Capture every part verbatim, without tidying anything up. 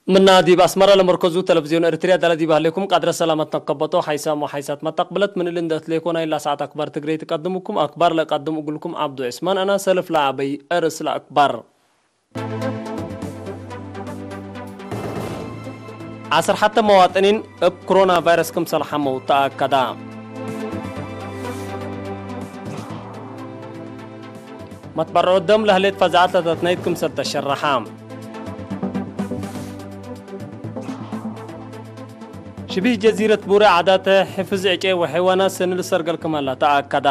ምና ዲብ አስመረ ለመርከዙ ተለቪዝዮን ኤሪትርያ ዳለ ዲብ ሀሌኩም ቃድረ ሰላመት ነከበቶ ሓይሳም ወሓይሳት መተቅብለት ምን እሊ እንደ እትሌኮ ናይላ ሰዓት አክባር ትግሬ ትቀድምኩም። አክባር ለቀድም እግልኩም ዐብዱ ዑስማን አና። ሰልፍ ለአበይ እርስ ለአክባር። ዐስር ሐተ መዋጥኒን እብ ክሮና ቫይረስ ክምሰል ሐመው ተአከዳ። መትበርዖት ደም ለህሌት ፈዛዐት ለተትነይት ክምሰል ተሸረሐ። ሽቢህ ጀዚረት ቡሬ ዓዳተ ሕፍዝ ዕጨይ ወሐይዋናት ሰኒ ልሰርገል ክመላ ተአከዳ።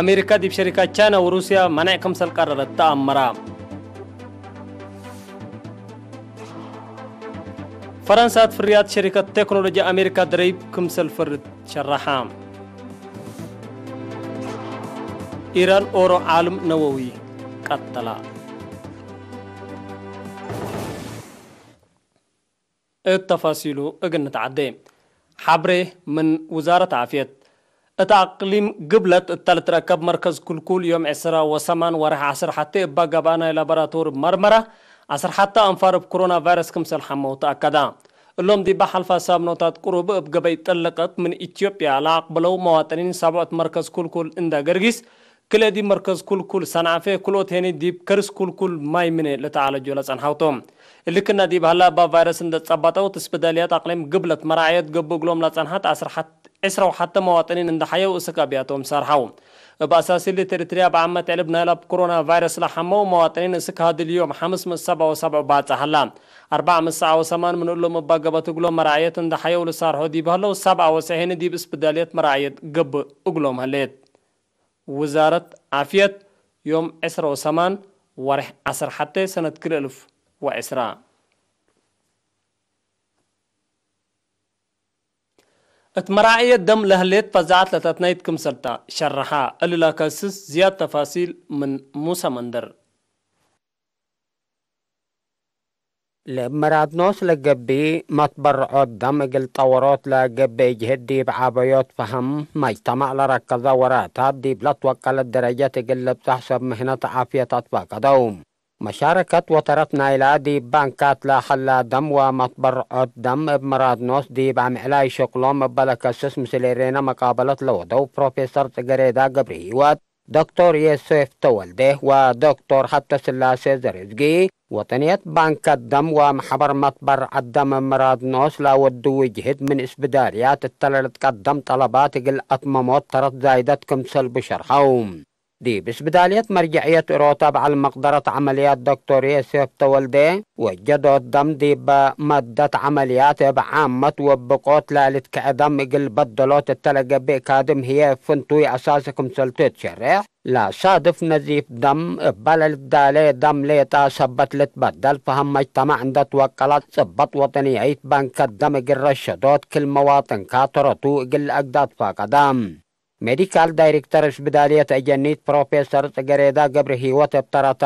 አሜሪካ ዲብ ሸሪካት ቻይና ወሩስያ መኔዕ ክምሰል ቀረረት ተአመረ። ፈረንሳት ፍርያት ሸሪከት ቴክኖሎጂ አሜሪካ ደረይብ ክምሰል ፈርድ ሸረሐ። ኢራን ኦሮ ዓልም ነወዊ ቀተላ። እት ተፋሲሉ እግል ንትዓዴ። ሐብሬ ምን ውዛረት ዓፍየት። እት አቅሊም ግብለት እተ ልትረከብ መርከዝ ኩልኩል ዮም ዕስራ ወሰማን ወርሕ ዐስር ሐቴ እባ ገብአ ናይ ላቦራቶሪ መርመረ ዐስር ሐተ አንፋር እብ ኮሮና ቫይረስ ክምሰል ሐመው ተአከዳ። እሎም ዲበ ሐልፋ ሳምኖታት ቅሩብ እብ ገበይ ጥልቀት ምን ኢትዮጵያ ለአቅብለው መዋጥኒን ሳብዖት መርከዝ ኩልኩል እንዳ ገርጊስ ክልኤ ዲብ መርከዝ ኩልኩል ሰንዓፌ፣ ክልኦት ሄኒ ዲብ ከርስ ኩልኩል ማይ ምኔ ለተዓለጆ ለጸንሐው ቶም። እሊ ክና ዲብ ሀላ እባ ቫይረስ እንደ ጸበጠው፣ እት እስብዳልያት አቅሊም ግብለት መራዕየት ገብእ እግሎም ለጸንሐት ዐስር ሐት-፣ ዕስራ ወሐተ መዋጥኒን እንደ ሐየው እስክ አብያቶም ሰርሐው። እብ አሳሲ እሊ እት ኤሪትርያ እብ ዓመት ዕልብ ናይላ እብ ኮሮና ቫይረስ ለሐመው መዋጥኒን እስክ ሀድል ዮም ሐምስ ምእት ሰብዓ ወሰብዕ ባጽ ሀላ። አርበዕ ምእት ሰብዓ ወሰማን ምን እሎም እባ ገበት እግሎም መራዕየት እንደ ሐየው ልሳርሖ ዲብ ሀለው፣ ሰብዓ ወሰዕ ሄኒ ዲብ እስብዳልየት መራዕየት ገብእ እግሎም ሀሌት። ውዛረት ዓፍየት፣ ዮም ዕስራ ወሰማን ወርሕ ዐስር ሐቴ ሰነት ክልኤ እልፍ ወዕስራ። እት መራዕየት ደም ለህሌት ፈዛዐት ለተትነይት ክምሰልታ ሸረሐ። እሊ ለከስስ ዝያድ ተፋሲል ምን ሙሰ መንደር። ለእብ መራድኖስ ለገብእ መትበርዖት ደም እግል ጠወሮት ለገብእ ጅህድ ዲብ ዐበዮት ፈሀም መጅተማዕ ለረከዘ ወራታት ዲብ ለትወቀለት ደረጀት እግል ልብጸሕ ሰብ ምህነት ዓፍየት አትፋቀደው። መሻረከት ወተረት ናይላ ዲብ ባንካት ለሀላ ደም ወመትበርዖት ደም እብ መራድኖስ ዲብ አምዕላይ ሽቅሎም እበ ለከስስ ምስል ኤሬነ መቃበለት ለወደው ፕሮፌሰር ጽገሬዳ ገብረህይወት፣ ዶክቶር ዮሴፍ ተወልዴ ወዶክቶር ሀብተስላሴ ዘርዝጊ፣ ወጠንየት ባንክ አደም ወመሕበር መትበርዐት ደም ምራድ ኖስ ለወድዊ ጅህድ ምን እስብዳልያት እተ ለልትቀደም ጠለባት እግል አትመሞት ተረት ዛይደት ክምሰል ብሸርሐው። ዲብ እስብዳልየት መርጀዕየት እሮታ በዐል መቅደረት ዐመልያት ዶክቶር ዮሴፍ ተወልዴ፣ ወጀዶት ደም ዲብ መደት ዐመልያት እብ ዓመት ወብቆት ለልትከዐ ደም እግል በደሎት እተ ለገብእ ካድም ህዬ ፍንቱይ አሳሲ ክምሰል ትትሸሬሕ፣ ለሳድፍ ነዚፍ ደም እበ ለልትዳሌ ደም ሌጣ ሰበት ልትበደል ፈሀም መጅተማዕ እንደ ትወቀለት ጽበት ወጠንያይት ባንከት ደም እግል ረሸዶት ክል መዋጥንካ ተረቱ እግል ለአግዳ ትፋቀደ። ሜዲካል ዳይሬክተር እስብዳልየት አጀኒት ፕሮፌሰር ጽገሬዳ ገብረሂወት እብ ተረታ፣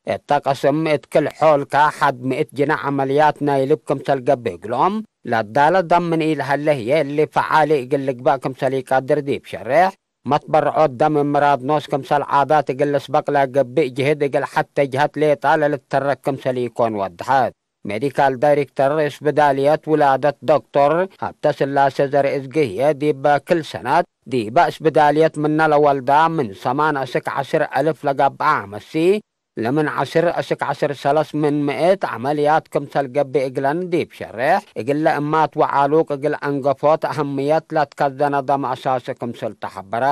እተ ቅስም እት ክል ሖልካ ሐድ ምእት ጅነ ዐመልያት ናይ ልብ ክምሰል ገብእ እግሎም፣ ለዳለ ደም ምን ኢለሀለ ህዬ እሊ ፈዓሊ እግል ልግበእ ክምሰል ኢቀድር ዲብ ሸሬሕ፣ መትበርዖት ደም ምራድ ኖስ ክምሰል ዓዳት እግል ልስበቅ ለገብእ ጅህድ እግል ሐቴ ጀሀት ሌጣ ለልትተረክ ክምሰል ኢኮን ወደሐት። ሜዲካል ዳይሬክተር እስብዳልየት ውላደት ዶክቶር ሀብተስላሴ ዘርእዝጊ ህዬ ዲብ ክል ሰነት ዲበ እስብዳልየት ምነ ለወልዳ ምን ሰማን እስክ ዐስር አልፍ ለገብአ አመሲ፣ ለምን ዐስር እስክ ዐስር ሰለስ ምን ምእት ዐመልያት ክምሰል ገብእ እግለን ዲብ ሸሬሕ፣ እግለ እማት ወዓሉቅ እግል አንገፎት አህምየት ለትከዘነ ደም አሳሲ ክምሰል ተሐበረ።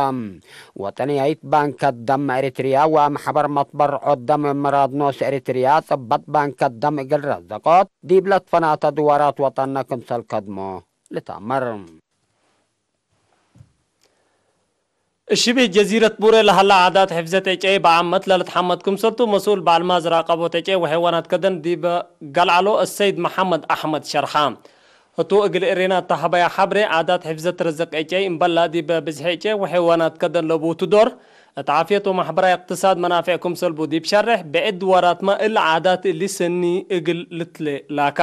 ወጠንያይት ባንከት ደም ኤሪትርያ ወመሕበር መትበርዖት ደም ምራድ ኖስ ኤሪትርያ ጽበት ባንከት ደም እግል ረዘቆት ዲብ ለትፈናተ ድዋራት ወጠነ ክምሰል ከድሞ ልትአመር። እሽቢህ ጀዚረት ቡሬ ለሀላ ዓዳት ሕፍዘት ዕጨይ በዓመት ለልትሐመድ ክምሰልቱ መስኡል በዐል ማዝር አቀቦት ዕጨይ ወሐይዋናት ከደን ዲበ ገልዐሎ እሰይድ መሐመድ አሕመድ ሸርሐ። ህቱ እግል እሬና እተ ሀበያ ሐብሬ፣ ዓዳት ሕፍዘት ርዝቅ ዕጨይ እምበላ ዲበ ብዝሒ ዕጨይ ወሐይዋናት ከደን ለቡቱ ዶር፣ እት ዓፍየት ወመሕበራይ እቅትሳድ መናፍዕ ክምሰልቡ ዲብ ሸሬሕ፣ ብዕድ ድዋራትመ እሊ ዓዳት እሊ ሰኒ እግል ልትሌ ላካ።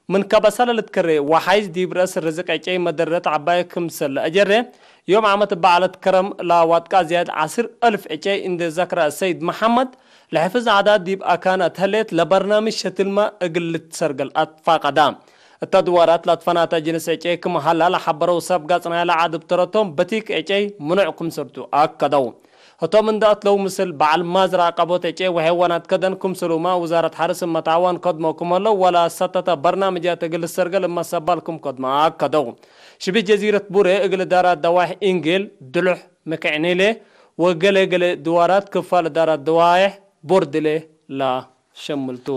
ምን ከበሰ ለልትከሬ ወሓይዝ ዲብ ረአስ ርዝቅ ዕጨይ መደረት ዐባይ ክምሰል ለአጀሬ፣ ዮም ዓመት እበ ዐለት ከረም ለዋጥቃ ዝያድ ዐስር አልፍ ዕጨይ እንዴ ዘክረ ሰይድ መሐመድ፣ ለሕፍዝ ዐዳት ዲብ አካን አትሀሌት ለበርናምጅ ሸትልመ እግል ልትሰርገል አትፋቀዳ። እተ ድዋራት ለትፈናተ ጅንስ ዕጨይ ክም ሀላ ለሐበረው ሰብ ጋጽ ናይለ ዐድ እብ ተረቶም በቲክ ዕጨይ ምኑዕ ክምሰልቱ አከደው። ህቶም እንደ አትለው ምስል በዐል ማዝራ አቀቦት ዕጨይ ወሐይዋናት ከደን ክምስሉመ ውዛረት ሐርስ እመ ተዐዋን ከድሞ ክም ሀለው ወለሰተተ በርናምጃት እግል ልሰርገል እመ ሰባል ክም ከድመ አከደው። ሽቢህ ጀዚረት ቡሬ እግል እዳራት ደዋይሕ ኢንጌል፣ ድሉሕ፣ መክዕኒሌ ወገሌ ገሌ ድዋራት ክፋል እዳራት ደዋይሕ ቦርድሌ ለሸምልቱ።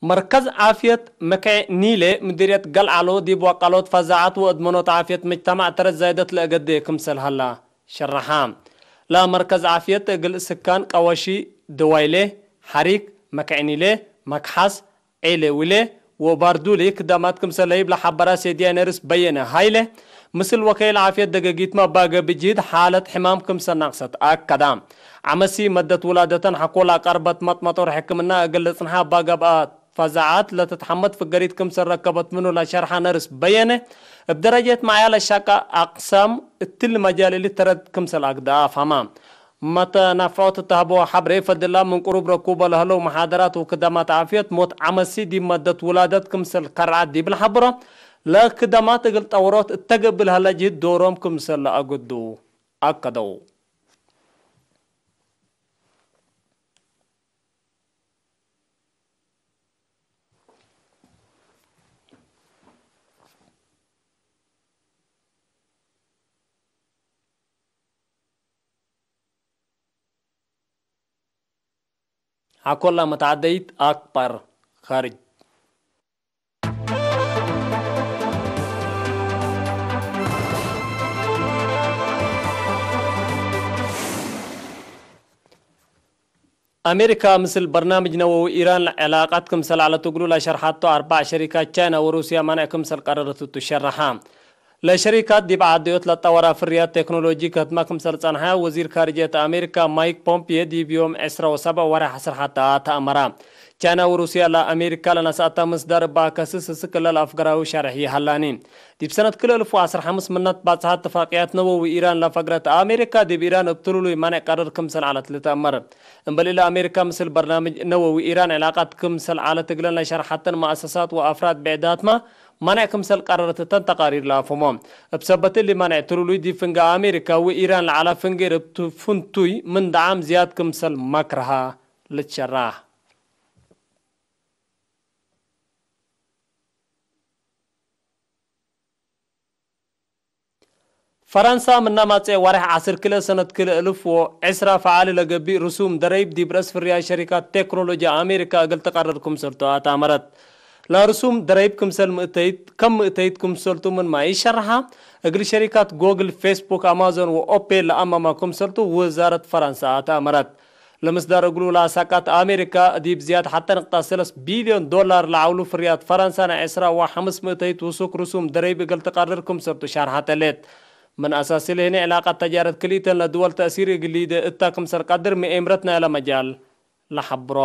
መርከዝ ዓፍየት መክዕኒሌ ምዲርየት ገልዓሎ ዲብ ወቀሎት ፈዛዐት ወእድመኖት ዓፍየት ምጅተማዕ ተረት ዛይደት ለእገዴ ክምሰል ሀላ ሸረሐ። ለመርከዝ ዓፍየት እግል ስካን ቀወሺ፣ ደዋይሌ፣ ሐሪክ፣ መክዕኒሌ፣ መክሐስ፣ ዔሌዊሌ ወባርዱሊ ክዳማት ክምሰል ለህይብ ለሐበረ ሴድያይ ነርስ በየነ ሀይለ፣ ምስል ወከይል ዓፍየት ደገጊትመ እበ ገብእ ጅህድ ሓለት ሕማም ክምሰል ናቅሰት አከዳ። ዐመሲ መደት ውላደተን ሐቆ ለአቀርበት መጥመጦር ሕክምና እግል ልጽንሐ እበ ገብአ ፈዛዐት ለትትሐመድ ፍገሪት ክምሰል ረከበት ምኑ ለሸርሐ ነርስ በየነ፣ እብ ደረጀት መዕያ ለሻቀ አቅሳም እትሊ መጃል እሊ ተረት ክምሰል አግደአ አፍሀማ። መተናፍዖት እተ ሀበው ሐብሬ ፈድላ ምን ቅሩብ ረኩበ ለህለው መሓደራት ወክዳማት ዓፍየት ሞት ዐመሲ ዲብ መደት ውላደት ክምሰል ከርዐት ዲብ ለሐብሮ፣ ለክዳማት እግል ጠውሮት እተ ገብእ ለሀለ ጅህድ ዶሮም ክምሰል ለአገዱ አከደው። ሐቆላ መትዓደይት አክባር ኻርጅ። አሜሪካ ምስል በርናምጅ ነወዊ ኢራን ዐላቀት ክምሰል ዐለት እግሉ ለሸርሐቶ አርበዕ ሸሪካት ቻይና ወሩስያ ማንዕ ክምሰል ቀረረት ቱ ሸረሐ። ለሸሪካት ዲብ ዓደዮት ለጠወራ ፍርያት ቴክኖሎጂ ከህትመ ክምሰል ጸንሐ ወዚር ካርጅየት አሜሪካ ማይክ ፖምፒዮ ዲብ ዮም ዕስራ ወሰብዕ ወርሕ ዐስር ሐተ ተአመረ። ቻይና ወሩስያ ለአሜሪካ ለነስአተ ምስዳር እበ አከስስ እስክ ለልአፍገራዊ ሸርሕ ይሀላኒ። ዲብ ሰነት ክልኤ እልፍ ወዐስር ሐምስ ምነት ባጽሐ እትፋቅያት ነወዊ ኢራን ለፈግረት አሜሪካ ዲብ ኢራን እብ ትሉሉይ ማንዕ ቀረር ክምሰል ዐለት ልትአመር። እምበል እለ አሜሪካ ምስል በርናምጅ ነወዊ ኢራን ዕላቀት ክምሰል ዐለት እግለን ለሸርሐተን መአሰሳት ወአፍራድ ብዕዳትመ ማንዕ ክምሰል ቀረረት እተን ተቃሪር ለአፍህሞ። እብ ሰበት እሊ ማንዕ ትሉሉይ ዲብ ፍንጌ አሜሪካ ወኢራን ለዐለ ፍንጌ እብ ፍንቱይ ምን ደዓም ዝያድ ክምሰል መክረሃ ልትሸራህ። ፈረንሳ ምነ መጽአ ወሬሕ ዐስር ክልኤ ሰነት ክልኤ እልፍ ወዕስራ ፈዓሊ ለገብእ ርሱም ደረይብ ዲብ ረአስ ፍርያይ ሸሪካት ቴክኖሎጂ አሜሪካ እግል ትቀርር ክምሰልቱ አትአመረት። ለርሱም ደረይብ ክምሰል ምእተይት፣ ከም ምእተይት ክምሰልቱ ምንመ ኢሸርሐ፣ እግል ሸሪካት ጎግል፣ ፌስቡክ፣ አማዞን ወኦፔል ለአመመ ክምሰልቱ ውዛረት ፈረንሳ አትአመረት። ለምስዳር እግሉ ለአሳቃት አሜሪካ፣ ዲብ ዝያድ ሐተ ንቅጣ ሰለስ ቢልዮን ዶላር ለዐውሉ ፍርያት ፈረንሳ ናይ ዕስራ ወሐምስ ምእተይት ውሱክ ርሱም ደረይብ እግል ትቀርር ክምሰልቱ ሻርሐት ዐለት። ምን አሳስ እሊ ህኔ ዕላቀት ተጃረት ክልኢተን ለድወል ተእሲር እግል ሊዴ እታ ክምሰል ቀድር ምኤምረት ናይለ መጃል ለሐብሮ።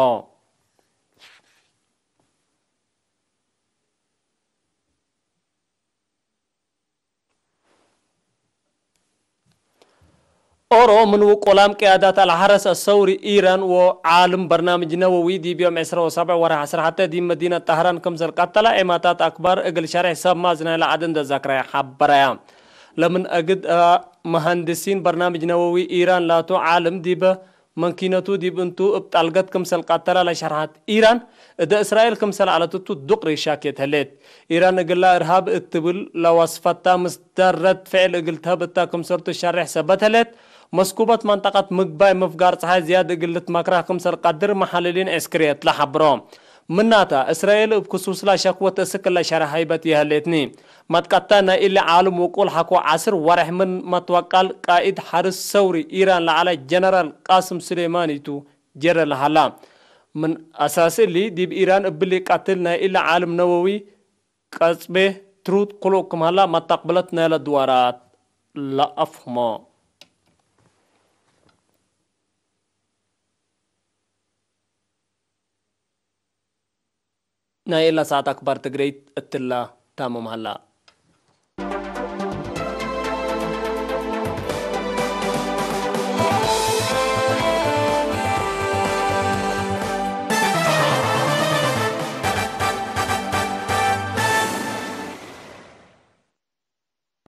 ኦሮ ምን ውቁላም ቅያዳት አልሐረስ አሰውሪ ኢራን ወዓልም በርናምጅ ነወዊ ዲብ ዮም ዕስራ ወሰብዕ ወርሕ ዐስር ሐተ ዲብ መዲነት ጠህራን ክምሰል ቀተለ ዔማታት አክባር እግል ሸሬሕ ሰብ ማዝናይ ለዐድ እንደ ዘክረ ሐበረያ። ለምን አግድ መሀንድሲን በርናምጅ ነወዊ ኢራን ላቱ ዓልም ዲበ መንኪነቱ ዲብ እንቱ እብ ጣልገት ክምሰል ቀተለ ለሸርሐት ኢራን፣ እደ እስራኤል ክምሰል ዐለት እቱ ዱቅሪ ሻኬት ህሌት። ኢራን እግላ እርሃብ እት ትብል ለወስፈታ ምስዳር ረድ ፍዕል እግል ተህብ እተ ክምሰልቱ ሸሬሕ ሰበት ህሌት። መስኩበት መንጠቀት ምግባይ ምፍጋር ጸሓይ ዝያድ እግል ልትመክረህ ክምሰል ቀድር መሐልሊን ዕስክርየት ለሐብሮ። ምናተ፣ እስራኤል እብ ክሱስላ ሸክወት እስክ ለሸርሐ ሀይበት ይሀሌትኒ። መትቀተ ናይ እሊ ዓልም ውቁል ሐቆ ዐስር ወሬሕ ምን መትወቃል ቃኢድ ሐርስ ሰውሪ ኢራን ለዐለ ጀነራል ቃስም ሱሌማኒ ቱ ጀረ ለሀላ። ምን አሳስ እሊ፣ ዲብ ኢራን እብሊ ቀትል ናይ እሊ ዓልም ነወዊ ቀጽቤ ትሩድ ክሉቅ ክም ሀላ መተቅብለት ናይለ ድዋራት ለአፍህሞ። ናይ እለ ሰዓት አክባር ትግሬይት እትለ ታምም ሀላ።